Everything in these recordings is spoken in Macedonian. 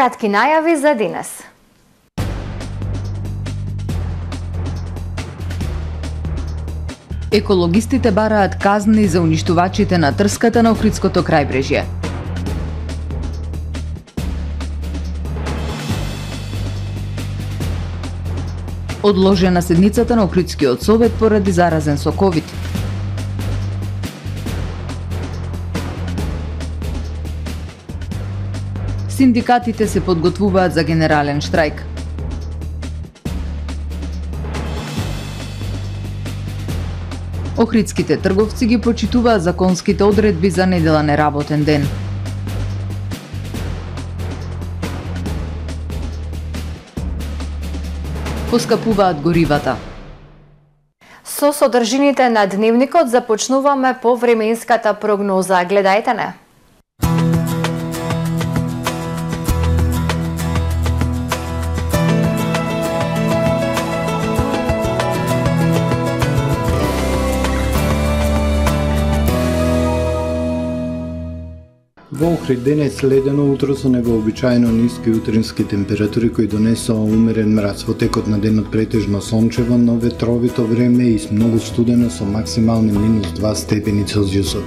кратки најави за денес. Екологистите бараат казни за уништувачите на трската на Охридското крајбрежје. Одложена седницата на Охридскиот совет поради заразен со ковид. Синдикатите се подготвуваат за генерален штрајк. Охридските трговци ги почитуваат законските одредби за неделен неработен ден. Поскапуваат горивата. Со содржините на дневникот започнуваме по временската прогноза. Гледајте не. Во Охрид денес ледено утро со невообичаено ниски утрински температури кои донесоа умерен мраз. Во текот на денот претежно сончево, но ветровито време и многу студено со максимални -2 степени Целзиусови.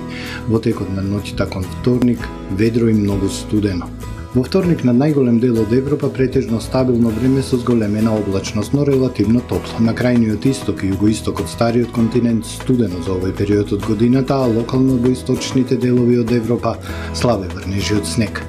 Во текот на ноќта кон вторник ведро и многу студено. Во вторник на најголем дел од Европа претежно стабилно време со зголемена облачност, но релативно топло. На крајниот исток и југоисток од стариот континент студено за овој период од годината, а локално во источните делови од Европа слабе врнежи од снег.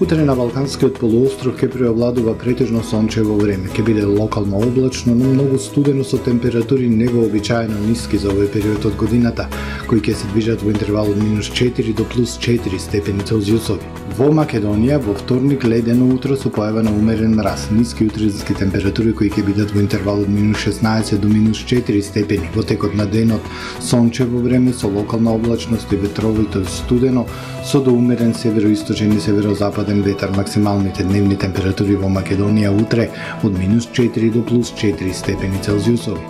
Утре на Балканскиот полуостров ќе преовладува претежно сончево време. Ќе биде локално облачно, но многу студено со температури невообичаено ниски за овој период од годината, кои ќе се движат во интервал од -4 до +4 степени Целзиусови. Во Македонија во вторник ледено утро со појава на умерен мраз, ниски утрински температури кои ќе бидат во интервал од -16 до -4 степени. Во текот на денот сончево време со локална облачност и ветровито и студено, со до умерен североисточен и северозападен ветар. Максималните дневни температури во Македонија утре од -4 до +4 степени Целзиусови.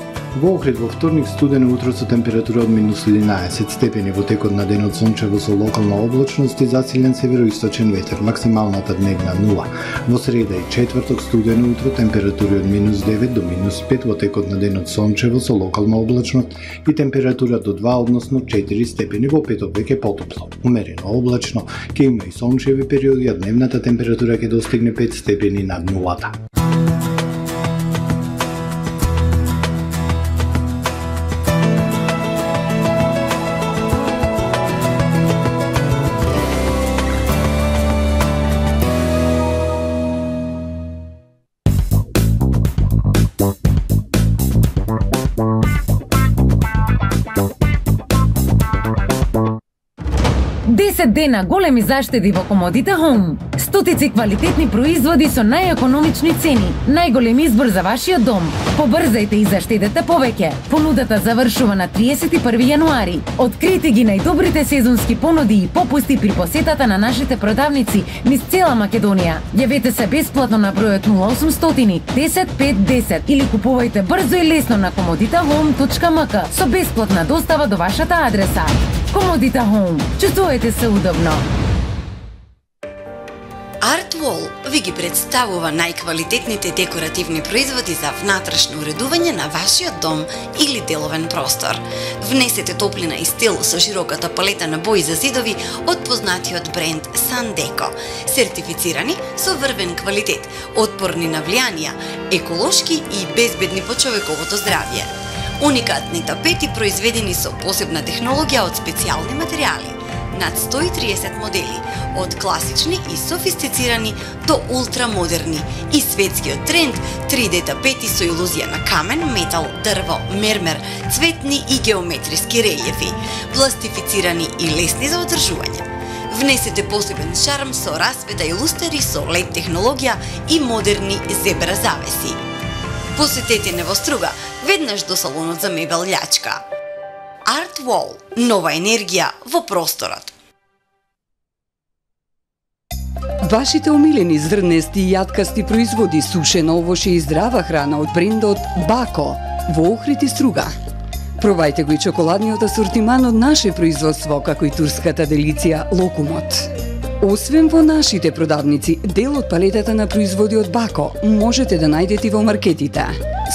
Во Охрид во вторник студено утро со температура од -11 степени. Во текот на денот сончево со локална облачност и засилен североисточен ветер. Максималната дневна 0. Во среда и четврток студено утро температури од -9 до -5. Во текот на денот сончево со локална облачност и температура до 2 односно 4 степени. Во петок веќе потопло. Умерено облачно, ќе има и сончеви периоди, а дневната температура ќе достигне 5 степени над нулата. Дена големи заштеди во Комодите Home. Стотици квалитетни производи со најекономични цени. Најголем избор за вашиот дом. Побрзајте и заштедете повеќе. Понудата завршува на 31 јануари. Открите ги најдобрите сезонски понуди и попусти при посетата на нашите продавници низ цела Македонија. Јавете се бесплатно на бројот 0800 10 5 10 или купувајте брзо и лесно на comoditahome.mk со бесплатна достава до вашата адреса. Комодите Home. Чувствувате се удобно. Artwall ви ги представува најквалитетните декоративни производи за внатрешно уредување на вашиот дом или деловен простор. Внесете топлина и стил со широката палета на бои за зидови од познатиот бренд Sandeko. Сертифицирани со врвен квалитет, отпорни на влијанија, еколошки и безбедни по човековото здравје. Уникатни тапети произведени со посебна технологија од специјални материјали. Над 130 модели, од класични и софистицирани до ултрамодерни и светскиот тренд 3D тапети со илузија на камен, метал, дрво, мермер, цветни и геометриски релјефи, пластифицирани и лесни за одржување. Внесете посебен шарм со расвета и лустери со LED технологија и модерни зебра завеси. Посетете Невоструга, веднаш до салонот за мебел Љачка. Artwall – нова енергија во просторот. Вашите омилени зрнести и јаткасти производи, сушено овоше и здрава храна од брендот Бако во Охрид и Струга. Пробајте го и чоколадниот асортиман од наше производство, како и турската делиција Локумот. Освен во нашите продавници, дел од палетата на производи од Бако можете да најдете во маркетите.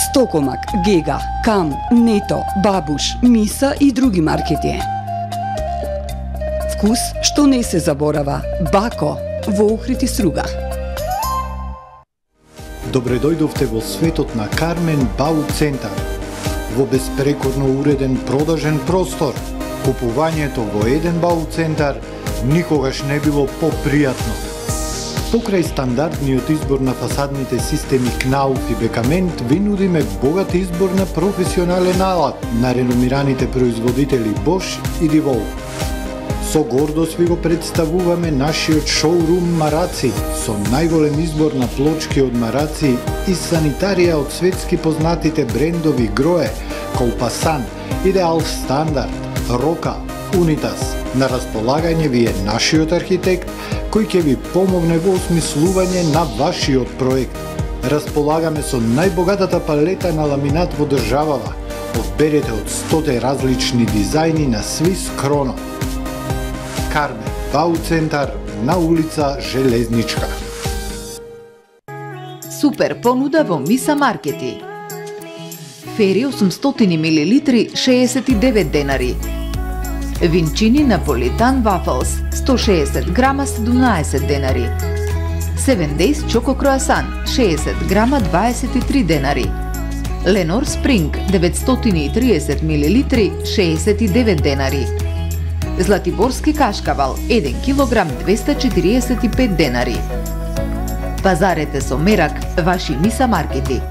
Стокомак, Гега, Кам, Нето, Бабуш, Миса и други маркети. Вкус што не се заборава. Бако во Охрид и Струга. Добре дојдовте во светот на Кармен Бау Центар. Во безпрекорно уреден продажен простор, купувањето во еден Бау Центар никогаш не било попријатно. Покрај стандардниот избор на фасадните системи Кнауф и Бекамент, ви нудиме богат избор на професионален алат на реномираните производители Bosch и DeWalt. Со гордост ви го представуваме нашиот шоурум Мараци, со најголем избор на плочки од Мараци и санитарија од светски познатите брендови Грое, Колпасан, Идеал Стандард, Рока, Унитас. На располагање ви е нашиот архитект, кој ќе ви помогне во осмислување на вашиот проект. Располагаме со најбогатата палета на ламинат во државава. Одберете од 100 различни дизајни на Свис Кроно. Кармен Бау Центар на улица Железничка. Супер понуда во Миса Маркети. Фери 800 мл 69 денари. Винчини Наполитан Вафлс 160 грама 17 денари. 7 Days Чоко Круасан 60 грама 23 денари. Ленор Спринг 930 мл 69 денари. Златиборски кашкавал 1 кг 245 денари. Пазарете со мерак ваши Миса Маркети.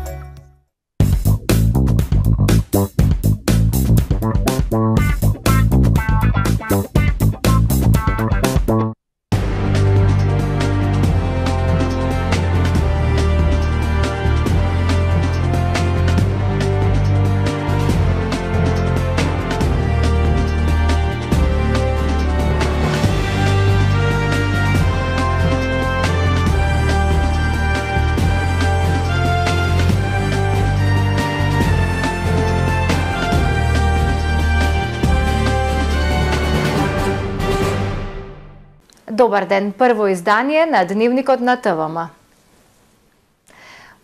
Добар ден, прво издание на Дневникот на ТВМ.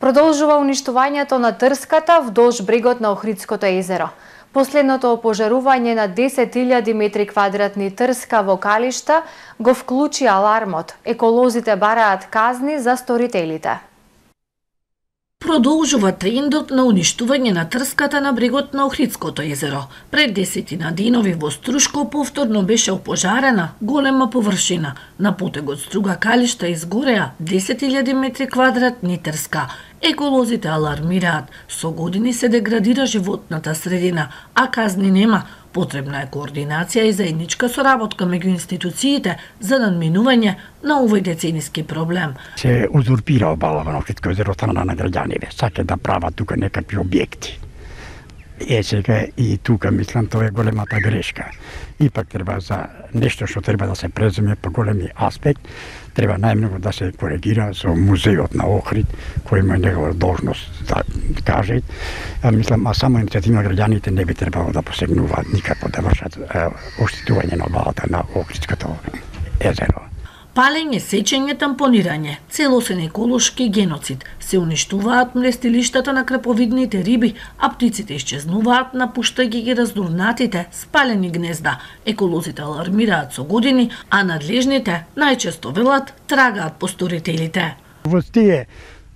Продолжува уништувањето на трската вдолж брегот на Охридското езеро. Последното опожарување на 10.000 метри квадратни трска во калишта го вклучи алармот. Еколозите бараат казни за сторителите. Продолжува трендот на уништување на трската на брегот на Охридското езеро. Пред 10 денови во Струшко повторно беше опожарена голема површина. На потегот Струга Калишта изгореа 10.000 метри квадратни трска. Еколозите алармираат, со години се деградира животната средина, а казни нема. Потребна е координација и заедничка соработка меѓу институциите за надминување на овој децениски проблем. Се узурпира обалава на Охридско езеро од страна на граѓаните. Саке да прават тука некакви објекти. Сега и тука мислам тоа е големата грешка. Ипак треба за нешто што треба да се преземе по големи аспект, треба најмногу да се коригира со музејот на Охрид, кој има негова должност да каже. Мислам, а само иницијатива на граѓаните не би требало да посегнуваат никако да вршат оштетување на обалата на Охридското езеро. Палење, сечење, тампонирање, целосен еколошки геноцид. Се уништуваат мрестилиштата на краповидните риби, а птиците исчезнуваат, напуштајќи ги раздурнатите, спалени гнезда. Еколозите алармираат со години, а надлежните најчесто велат трагаат по сторителите. Во тие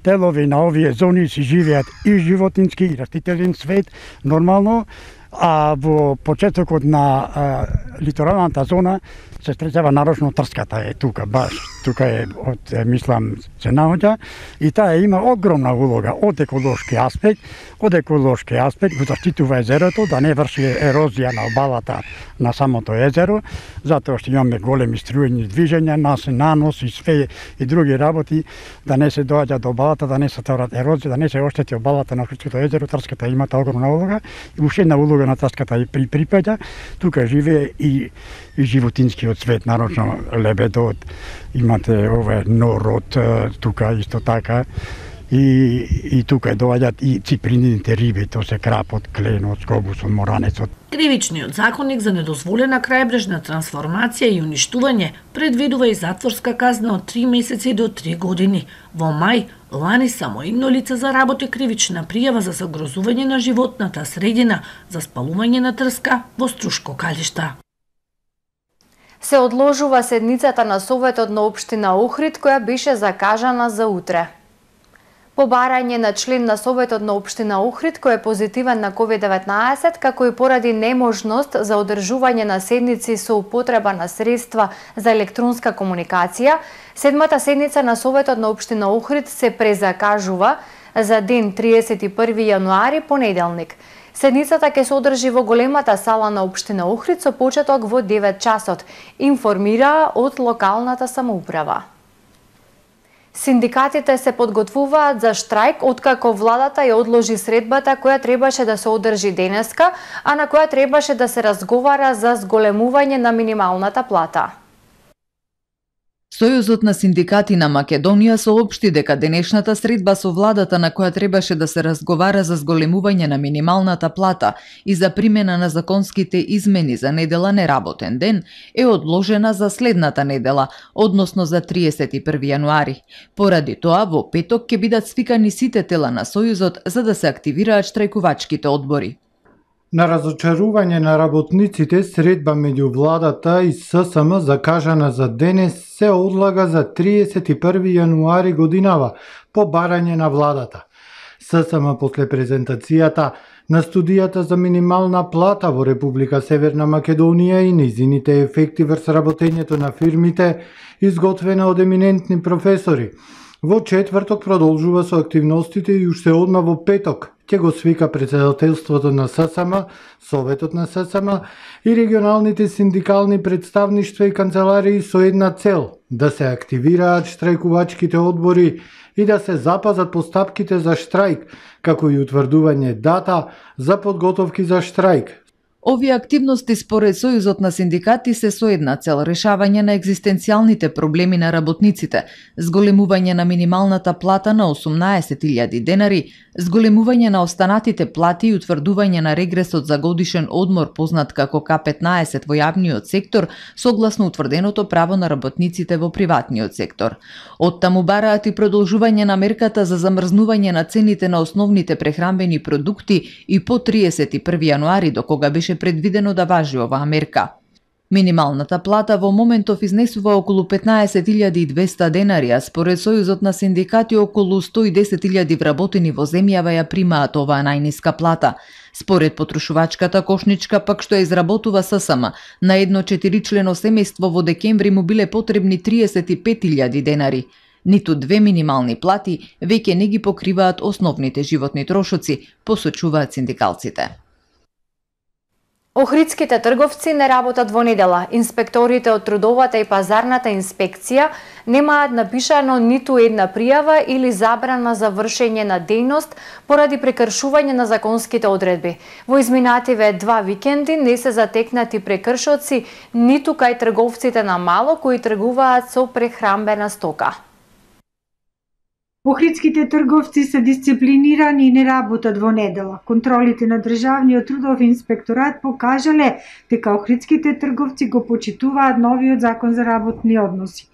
делови на овие зони си живеат и животински и растителен свет нормално, а во почетокот на литоралната зона се стресава нарочно трската е тука, баш тука е од мислам се наоѓа и таа има огромна улога од еколошки аспект го заштитува езерото да не врши ерозија на обалата на самото езеро, затоа што имаме големи струјни движења, нанос и све и други работи, да не се доаѓа до обалата, да не се стварат ерозија, да не се оштети обалата на Охридското езеро. Трската има огромна улога и уште една улога на трската и припаѓа. Тука живее и животинскиот свет, нарочно лебедот, имате ове норот, тука исто така, и тука доаѓаат и циприните риби, тоа се крапот, кленот, скобусот, моранецот. Кривичниот законник за недозволена крајбрежна трансформација и уништување предвидува и затворска казна од 3 месеци до 3 години. Во мај лани само едно лице заработи кривична пријава за загрозување на животната средина за спалување на трска во Струшко Калишта. Се одложува седницата на Советот на општина Охрид, која беше закажана за утре. По барање на член на Советот на општина Охрид, кој е позитивен на COVID-19, како и поради неможност за одржување на седници со употреба на средства за електронска комуникација, седмата седница на Советот на општина Охрид се презакажува за ден 31 јануари, понеделник. Седницата ќе се одржи во големата сала на општина Охрид со почеток во 9 часот, информира од локалната самоуправа. Синдикатите се подготвуваат за штрајк откако владата ја одложи средбата која требаше да се одржи денеска, а на која требаше да се разговара за зголемување на минималната плата. Сојузот на синдикати на Македонија соопшти дека денешната средба со владата на која требаше да се разговара за зголемување на минималната плата и за примена на законските измени за недела неработен ден е одложена за следната недела, односно за 31 јануари. Поради тоа во петок ќе бидат свикани сите тела на Сојузот за да се активираат штрајкувачките одбори. На разочарување на работниците, средба меѓу владата и ССМ закажана за денес се одлага за 31 јануари годинава по барање на владата. ССМ после презентацијата на студијата за минимална плата во Република Северна Македонија и нејзините ефекти врз работењето на фирмите, изготвена од еминентни професори. Во четврток продолжува со активностите и уште одма во петок ќе го свика председателството на ССМ, Советот на ССМ и регионалните синдикални представништва и канцеларии со една цел – да се активираат штрајкувачките одбори и да се запазат постапките за штрајк, како и утврдување дата за подготовки за штрајк. Овие активности според Сојузот на синдикати се со една цел – решавање на екзистенцијалните проблеми на работниците, зголемување на минималната плата на 18.000 денари, зголемување на останатите плати и утврдување на регресот за годишен одмор познат како К15 во јавниот сектор, согласно утврденото право на работниците во приватниот сектор. Оттаму бараат и продолжување на мерката за замрзнување на цените на основните прехранбени продукти и по 31 јануари, до кога беше предвидено да важи оваа мерка. Минималната плата во моментов изнесува околу 15.200 денари, а според Сојузот на синдикати околу 110.000 вработени во земјава ја примаат оваа најниска плата. Според потрошувачката кошничка, пак што ја изработува ССМ, на едно 4-члено семејство во декември му биле потребни 35.000 денари. Ниту две минимални плати веќе не ги покриваат основните животни трошоци, посочуваат синдикалците. Охридските трговци не работат во недела. Инспекторите од трудовата и пазарната инспекција немаат напишано ниту една пријава или забрана за вршење на дејност поради прекршување на законските одредби. Во изминативе 2 викенди не се затекнати прекршоци ниту кај трговците на мало кои тргуваат со прехранбена стока. Охридските трговци се дисциплинирани и не работат во недела. Контролите на Државниот трудов инспекторат покажале дека охридските трговци го почитуваат новиот закон за работни односи.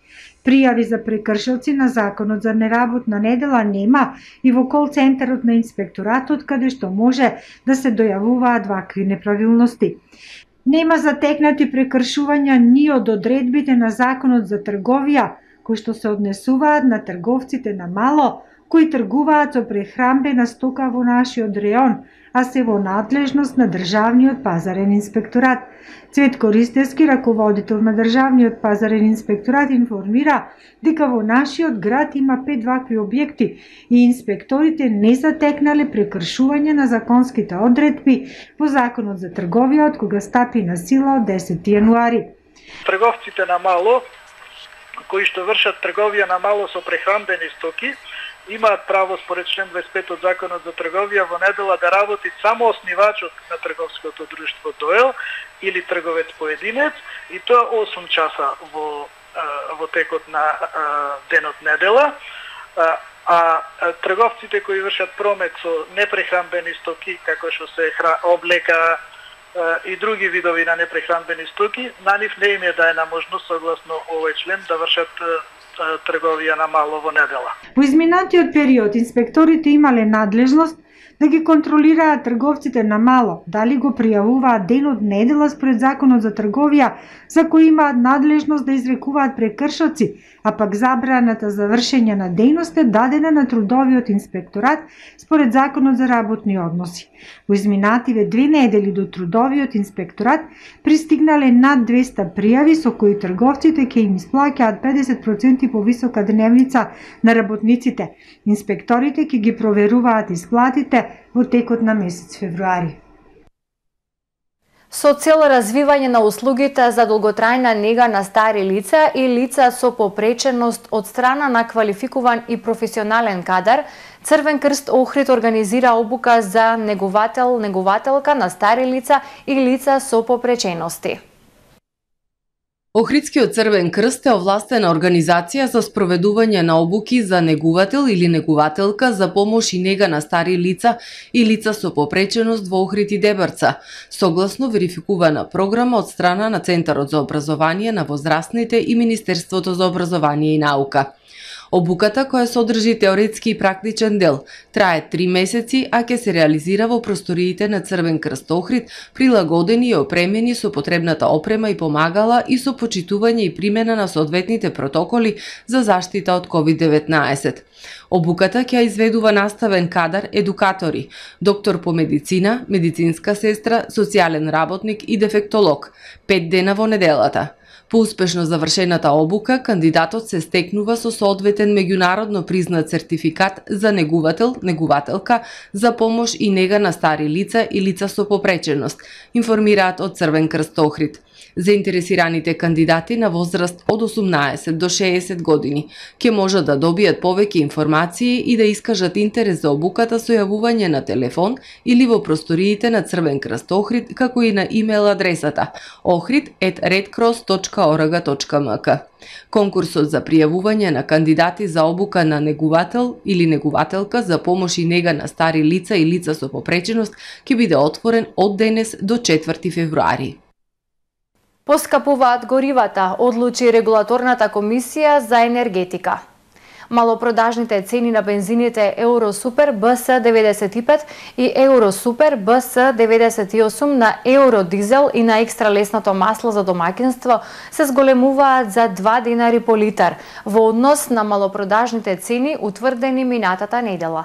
Пријави за прекршилци на законот за неработна недела нема и во кол центарот на инспекторатот каде што може да се дојавуваат вакви неправилности. Нема затекнати прекршувања ни од одредбите на законот за трговија, кои што се однесуваат на трговците на мало, кои тргуваат со прехранбена стока во нашиот реон, а се во надлежност на Државниот пазарен инспекторат. Цветко Ристевски, раководител на Државниот пазарен инспекторат, информира дека во нашиот град има 5 вакви објекти и инспекторите не затекнале прекршување на законските одредби во Законот за трговија од кога стапи на сила од 10 јануари. Трговците на мало кои што вршат трговија на мало со прехранбени стоки, имаат право според член 25 од Законот за трговија во недела да работи само основачот на трговското друштво ДОЕЛ или трговец поединец и тоа 8 часа во текот на денот недела. а трговците кои вршат промет со непрехранбени стоки, како што се облека и други видови на непрехранбени стоки, на нив не им е даена можност согласно овој член да вршат трговија на мало во недела. Во изминатиот период инспекторите имале надлежност да ги контролираат трговците на мало, дали го пријавуваат ден од недела според Законот за трговија, за кој имаат надлежност да изрекуваат прекршоци, а пак забраната за вршење на дејност е дадена на трудовиот инспекторат според Законот за работни односи. Во изминативе 2 недели до трудовиот инспекторат пристигнале над 200 пријави со кои трговците ќе им исплаќаат 50% повисока дневница на работниците. Инспекторите ќе ги проверуваат исплатите во текот на месец февруари. Со цел развивање на услугите за долготрајна нега на стари лица и лица со попреченост од страна на квалификуван и професионален кадар, Црвен крст Охрид организира обука за негователка на стари лица и лица со попречености. Охридскиот Црвен крст е овластена организација за спроведување на обуки за негувател или негувателка за помош и нега на стари лица и лица со попреченост во Охрид и Дебрца, согласно верификувана програма од страна на Центарот за образование на возрастните и Министерството за образование и наука. Обуката, која содржи теоретски и практичен дел, трае 3 месеци, а ќе се реализира во просториите на Црвен крст Охрид, прилагодени и опремени со потребната опрема и помагала и со почитување и примена на соодветните протоколи за заштита од COVID-19. Обуката ќе изведува наставен кадар, едукатори, доктор по медицина, медицинска сестра, социјален работник и дефектолог, 5 дена во неделата. По успешно завршената обука, кандидатот се стекнува со соодветен меѓународно признат сертификат за негувател, негувателка за помош и нега на стари лица и лица со попреченост, информираат од Црвен крст Охрид. Заинтересираните кандидати на возраст од 18 до 60 години ќе можат да добијат повеќе информации и да искажат интерес за обуката со јавување на телефон или во просториите на Црвен крст Охрид, како и на имейл адресата ohrid@redcross.org.mk. Конкурсот за пријавување на кандидати за обука на негувател или негувателка за помош и нега на стари лица и лица со попреченост ќе биде отворен од денес до 4 февруари. Поскапуваат горивата, одлучи Регулаторната комисија за енергетика. Малопродажните цени на бензините Евросупер БС95 и Евросупер БС98 на Евродизел и на екстра лесното масло за домаќинство се зголемуваат за 2 денари по литар во однос на малопродажните цени утврдени минатата недела.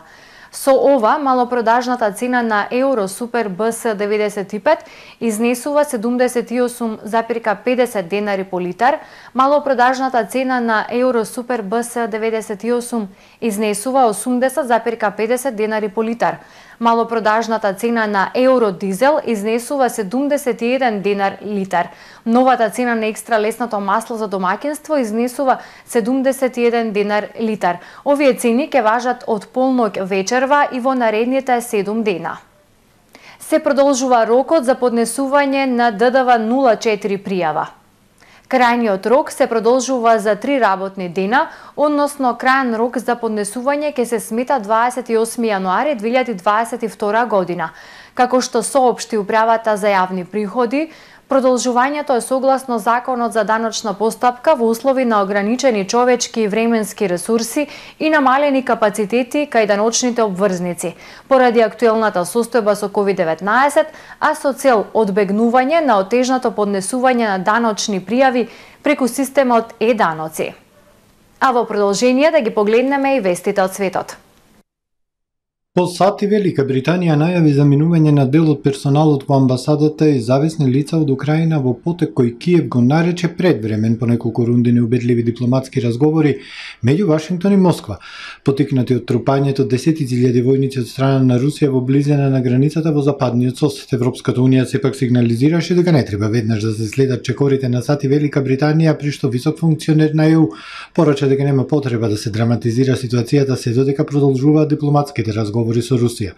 Со ова, малопродажната цена на Евросупер БС95 изнесува 78,50 денари по литар, малопродажната цена на Евросупер БС98 изнесува 80,50 денари по литар. Малопродажната цена на Евродизел изнесува 71 динар литар. Новата цена на екстра лесното масло за домаќинство изнесува 71 динар литар. Овие цени ќе важат од полноќ вечерва и во наредните 7 дена. Се продолжува рокот за поднесување на ДДВ 04 пријава. Крајниот рок се продолжува за 3 работни дена, односно крајен рок за поднесување ќе се смета 28 јануари 2022 година. Како што соопшти Управата за јавни приходи, продолжувањето е согласно Законот за даночна постапка во услови на ограничени човечки и временски ресурси и намалени капацитети кај даночните обврзници, поради актуелната состојба со COVID-19, а со цел одбегнување на отежното поднесување на даночни пријави преку системот е-даноци. А во продолжение да ги погледнеме и вестите од светот. По сати Велика Британија најави заминување на дел од персоналот во амбасадата и зависни лица од Украина во потек кој Киев го нарече предвремен по неколку рунди неубедливи дипломатски разговори меѓу Вашингтон и Москва, потикнати од трупањето 10.000 војници од страна на Русија во близина на границата во западниот сосед. Европската унија сепак сигнализираше дека не треба веднаш да се следат чекорите на сати Велика Британија, при што висок функционер на ЕУ порача дека нема потреба да се драматизира ситуацијата се додека продолжуваат дипломатските разговори со Русија.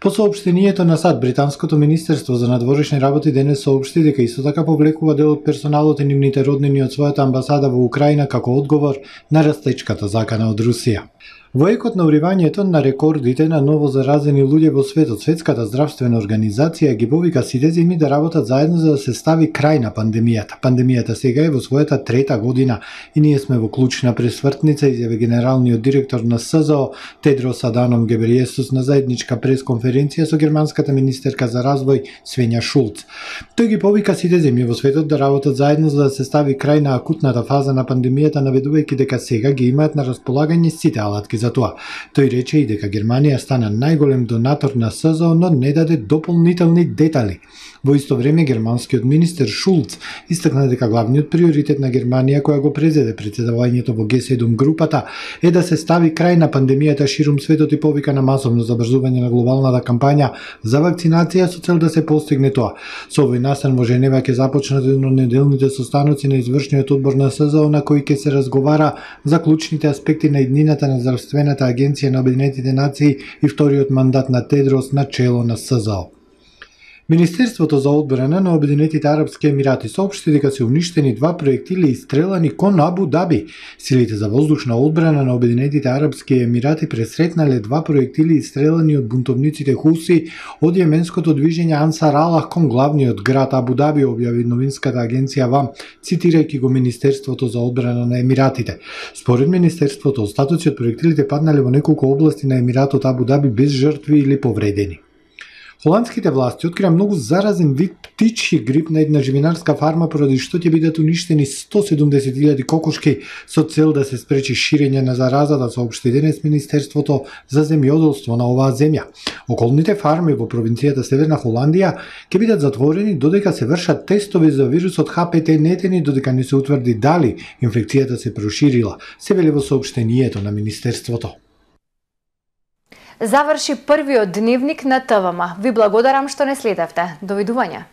По соопштението на САД, британското министерство за надворешни работи денес соопшти дека исто така повлекува дел од персоналот и нивните роднини од својата амбасада во Украина како одговор на растечката закана од Русија. Во екот на уривањето на рекордите на ново заразени луѓе во светот, Светската здравствена организација ги повика сите земји да работат заедно за да се стави крај на пандемијата. Пандемијата сега е во својата трета година и ние сме во клучна пресвртница, изјави генералниот директор на СЗО Тедрос Аданом Гебрејесус на заедничка пресконференција со германската министерка за развој Свења Шулц. Тој ги повика сите земји во светот да работат заедно за да се стави крај на акутната фаза на пандемијата, наведувајќи дека сега ги имаат на располагање сите алатки за тоа. Тој рече и дека Германија стана најголем донатор на СЗО, но не даде дополнителни детали. Во исто време, германскиот министер Шулц истакна дека главниот приоритет на Германија, која го презеде претседавањето во Г7 групата, е да се стави крај на пандемијата ширум светот и повика на масовно забрзување на глобалната кампања за вакцинација со цел да се постигне тоа. Со овој настан во Женева ќе започнат еднонеделните состаноци на извршниот одбор на СЗО, на кои ќе се разговара за клучните аспекти на иднината на здравствената агенција на Обединетите нации и вториот мандат на Тедрос на чело на СЗО. Министерството за одбрана на Обединетите арапски емирати соопшти дека се уништени 2 проектили истрелани кон Абу Даби. Силите за воздушна одбрана на Обединетите арапски емирати пресретнале 2 проектили истрелани од бунтовниците Хуси од јеменското движење Ансар Аллах кон главниот град Абу Даби, објави новинската агенција ВАМ, цитирајќи го Министерството за одбрана на емиратите. Според Министерството, остатоци од проектилите паднале во неколку области на емиратот Абу Даби без жртви или повредени. Холандските власти открија многу заразен вид птичји грип на една живинарска фарма, поради што ќе бидат уништени 170.000 кокошки со цел да се спречи ширење на заразата, соопшти денес Министерството за земјоделство на оваа земја. Околните фарми во провинцијата Северна Холандија ќе бидат затворени додека се вршат тестови за вирусот ХПТ нетени, додека не се утврди дали инфекцијата се проширила, се вели во соопштението на Министерството. Заврши првиот дневник на ТВМ. Ви благодарам што не следевте. Довидување.